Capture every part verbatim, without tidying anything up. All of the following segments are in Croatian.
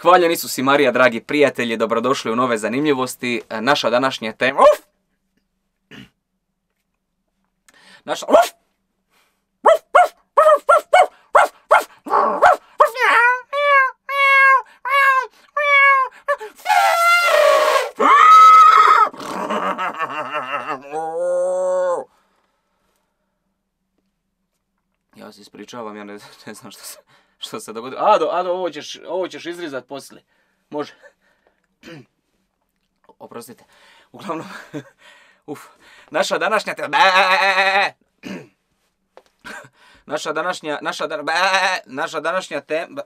Hvaljeni Isus i Marija, dragi prijatelji, dobrodošli u nove zanimljivosti. Naša današnja tema... Uf! Naša... Uf! Ja se ispričavam, ja ne, ne znam što se, što se dogodilo. Ado, Ado, ovo ćeš, ovo ćeš izrizat poslije. Može. Oprostite. Uglavnom, uf. Naša današnja tema... Naša današnja, naša, da, naša današnja tema...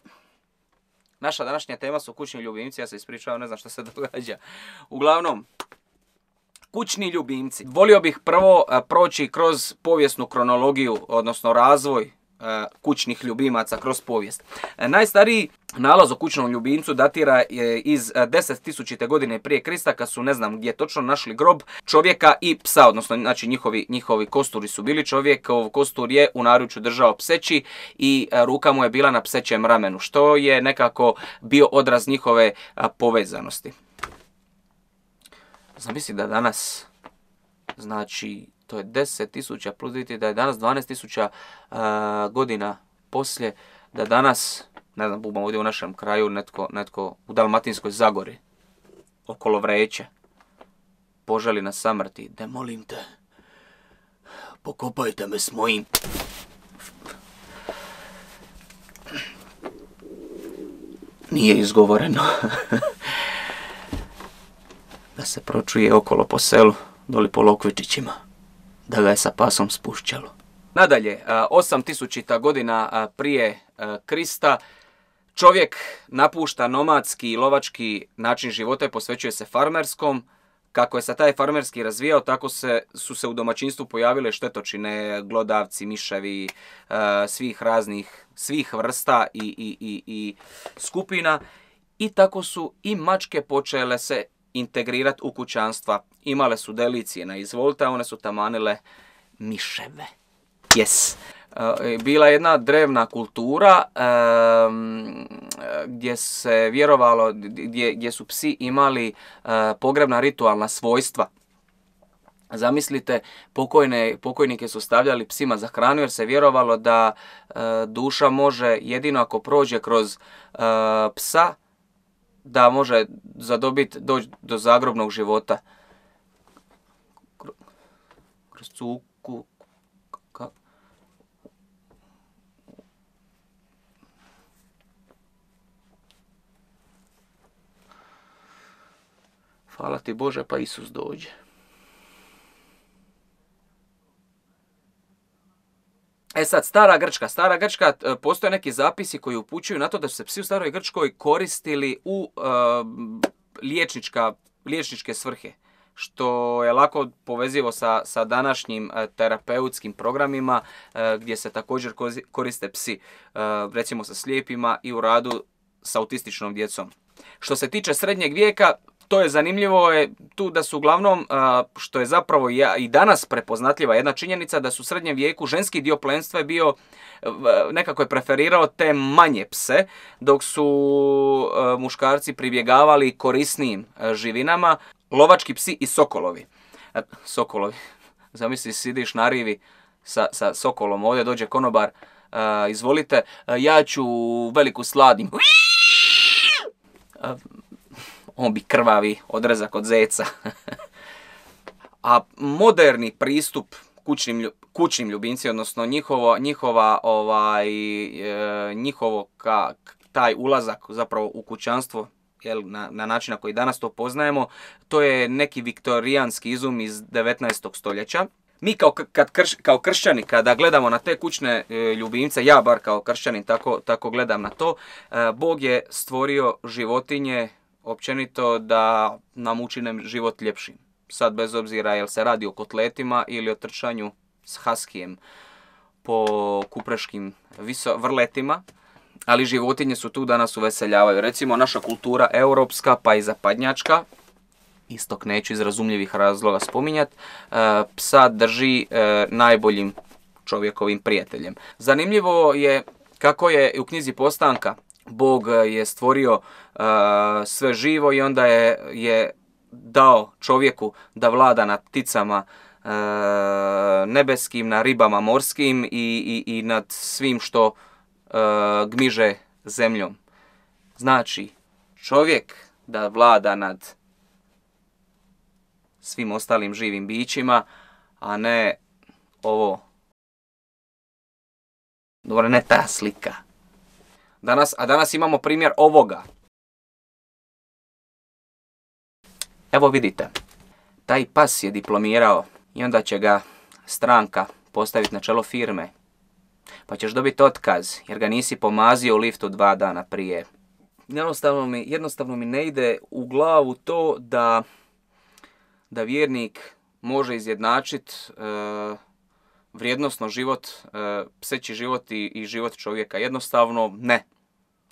Naša današnja tema su kućni ljubimci, ja se ispričavam, ne znam što se događa. Uglavnom, kućni ljubimci. Volio bih prvo a, proći kroz povijesnu kronologiju, odnosno razvoj a, kućnih ljubimaca kroz povijest. A, najstariji nalaz o kućnom ljubimcu datira je iz deset tisućite godine prije Krista, kad su, ne znam gdje točno, našli grob čovjeka i psa, odnosno znači njihovi, njihovi kosturi su bili. Čovjekov kostur je u naručju držao pseći i a, ruka mu je bila na psećem ramenu, što je nekako bio odraz njihove a, povezanosti. Zamisli da danas, znači, to je deset tisuća plus vidite da je danas dvanaest tisuća uh, godina poslije, da danas, ne znam, bubam ovdje u našem kraju, netko, netko u Dalmatinskoj Zagori, okolo Vreće, poželi na samrti, de molim te, pokopajte me s mojim... Nije izgovoreno. Da se pročuje okolo po selu, doli po Lokvičićima, da ga je sa pasom spušćalo. Nadalje, osam tisućita godina prije Krista, čovjek napušta nomadski i lovački način života i posvećuje se farmerskom. Kako je se taj farmerski razvijao, tako se, su se u domaćinstvu pojavile štetočine, glodavci, miševi, svih raznih, svih vrsta i, i, i, i skupina. I tako su i mačke počele se integrirati u kućanstva. Imale su delicije na izvolite, a one su tamanile miševe. Yes. E, bila je jedna drevna kultura e, gdje se vjerovalo, gdje, gdje su psi imali e, pogrebna ritualna svojstva. Zamislite, pokojne, pokojnike su stavljali psima za hranu jer se vjerovalo da e, duša može jedino ako prođe kroz e, psa, da može zadobiti doći do zagrobnog života. Kroz cuku... Ka... Hvala ti Bože, pa Isus dođe. E sad, stara Grčka. Stara Grčka, postoje neki zapisi koji upućuju na to da su se psi u staroj Grčkoj koristili u uh, liječnička, liječničke svrhe, što je lako povezivo sa, sa današnjim uh, terapeutskim programima uh, gdje se također koriste psi, uh, recimo sa slijepima i u radu s autističnom djecom. Što se tiče srednjeg vijeka, to je zanimljivo je tu da su uglavnom, što je zapravo i danas prepoznatljiva jedna činjenica, da su u srednjem vijeku ženski dio plemstva je bio, nekako je preferirao te manje pse, dok su muškarci pribjegavali korisnijim živinama, lovački psi i sokolovi. Sokolovi, zamisli, sidiš na rivi sa, sa sokolom, ovdje dođe konobar, izvolite, ja ću veliku sladim. On bi krvavi odrezak od zeca. A moderni pristup kućnim, kućnim ljubimcima, odnosno njihovo, njihova, ovaj, e, njihovo ka, taj ulazak zapravo u kućanstvo, jel, na, na način na koji danas to poznajemo, to je neki viktorijanski izum iz devetnaestog stoljeća. Mi kao, kad krš, kao kršćani, kada gledamo na te kućne e, ljubimce, ja bar kao kršćanin tako, tako gledam na to, e, Bog je stvorio životinje općenito da nam učine život ljepšim. Sad bez obzira jel se radi o kotletima ili o trčanju s haskijem po kupreškim viso, vrletima, ali životinje su tu da nas uveseljavaju. Recimo naša kultura europska pa i zapadnjačka, istok neću iz razumljivih razloga spominjati, psa drži najboljim čovjekovim prijateljem. Zanimljivo je kako je u knjizi Postanka Bog je stvorio uh, sve živo i onda je, je dao čovjeku da vlada nad pticama uh, nebeskim, na ribama morskim i, i, i nad svim što uh, gmiže zemljom. Znači, čovjek da vlada nad svim ostalim živim bićima, a ne ovo. Dobro, ne ta slika. Danas, a danas imamo primjer ovoga. Evo vidite, taj pas je diplomirao i onda će ga stranka postaviti na čelo firme. Pa ćeš dobiti otkaz jer ga nisi pomazio u liftu dva dana prije. Jednostavno mi, jednostavno mi ne ide u glavu to da, da vjernik može izjednačiti e, vrijednosno život, e, pseći život i, i život čovjeka. Jednostavno ne.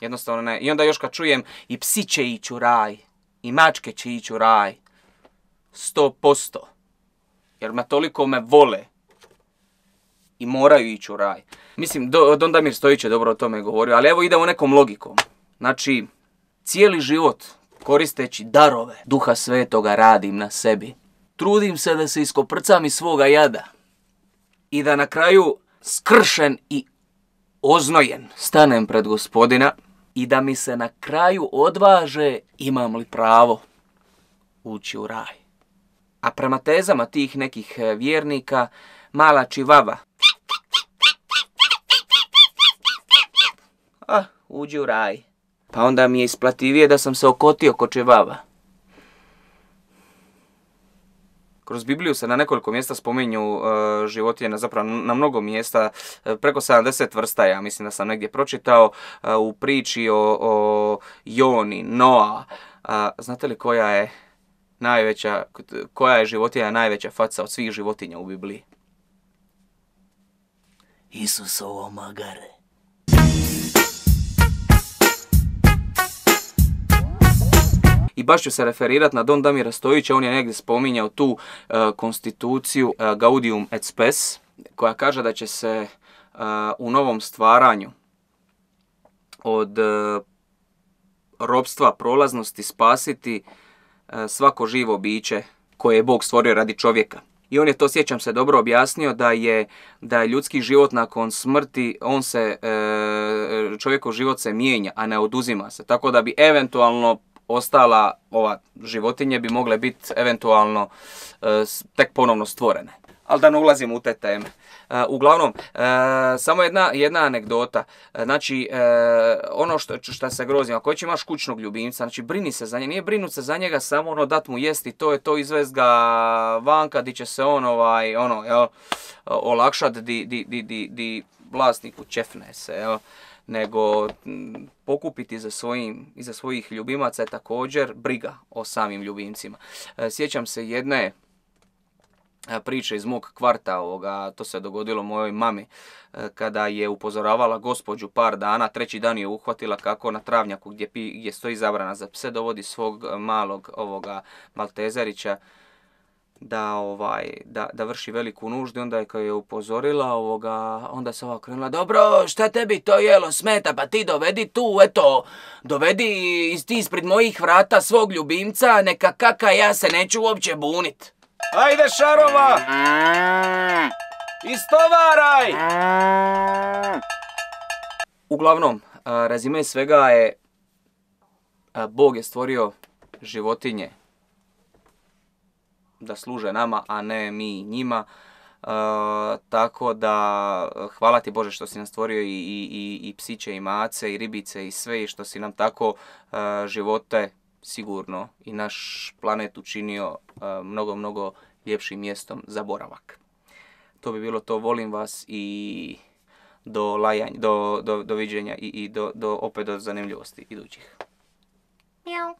Jednostavno ne. I onda još kad čujem i psi će ići u raj, i mačke će ići u raj. Sto posto. Jer me toliko me vole. I moraju ići u raj. Mislim, do, Don Damir Stojić je dobro o tome govorio, ali evo idemo nekom logikom. Znači, cijeli život koristeći darove Duha Svetoga radim na sebi. Trudim se da se iskoprcam iz svoga jada. I da na kraju skršen i oznojen stanem pred Gospodina i da mi se na kraju odvaže imam li pravo ući u raj. A prema tezama tih nekih vjernika, mala čivava, ah, uđi u raj. Pa onda mi je isplativije da sam se okotio ko čivava. Kroz Bibliju se na nekoliko mjesta spominju uh, životinje, zapravo na mnogo mjesta, uh, preko sedamdeset vrsta, ja mislim da sam negdje pročitao, uh, u priči o, o Joni, Noa. Uh, znate li koja je najveća, koja je životinja najveća faca od svih životinja u Bibliji? Isusovo magare. I baš ću se referirati na Don Damira Stojića, on je negdje spominjao tu uh, konstituciju uh, Gaudium et Spes, koja kaže da će se uh, u novom stvaranju od uh, ropstva prolaznosti spasiti uh, svako živo biće koje je Bog stvorio radi čovjeka. I on je to, sjećam se, dobro objasnio da je, da je ljudski život nakon smrti, on se, uh, čovjekov život se mijenja, a ne oduzima se. Tako da bi eventualno ostala ova životinje bi mogle biti eventualno e, tek ponovno stvorene. Ali da ne ulazimo u te teme. E, uglavnom, e, samo jedna, jedna anegdota. E, znači, e, ono što, što se grozim, ako već imaš kućnog ljubimca, znači brini se za njega, nije brinut se za njega, samo ono dat mu jesti, to je to, izvest ga vanka, di će se on ovaj, ono, jel, olakšat, di, di, di, di, di vlasniku čefne se, jel. Nego pokupiti za svojim, iza svojih ljubimaca je također briga o samim ljubimcima. Sjećam se jedne priče iz mog kvarta, ovoga, to se dogodilo mojoj mami, kada je upozoravala gospođu par dana, treći dan je uhvatila kako na travnjaku gdje, pi, gdje stoji zabrana za pse dovodi svog malog ovoga maltezerića da ovaj da, da vrši veliku nuždu. Onda je kad je upozorila ovoga, onda se ova krenula, dobro, šta tebi to jelo smeta, pa ti dovedi tu, eto, dovedi ti ispred mojih vrata svog ljubimca, neka kaka, ja se neću uopće bunit. Ajde šarova! Istovaraj! Uglavnom, rezime svega je, Bog je stvorio životinje da služe nama, a ne mi njima. E, tako da, hvala ti Bože što si nam stvorio i, i, i, i psiće, i mace, i ribice, i sve, i što si nam tako e, živote sigurno i naš planet učinio e, mnogo, mnogo ljepšim mjestom za boravak. To bi bilo to, volim vas i do lajanja, do, do, do viđenja i, i do, do, opet do zanimljivosti idućih. Mjau.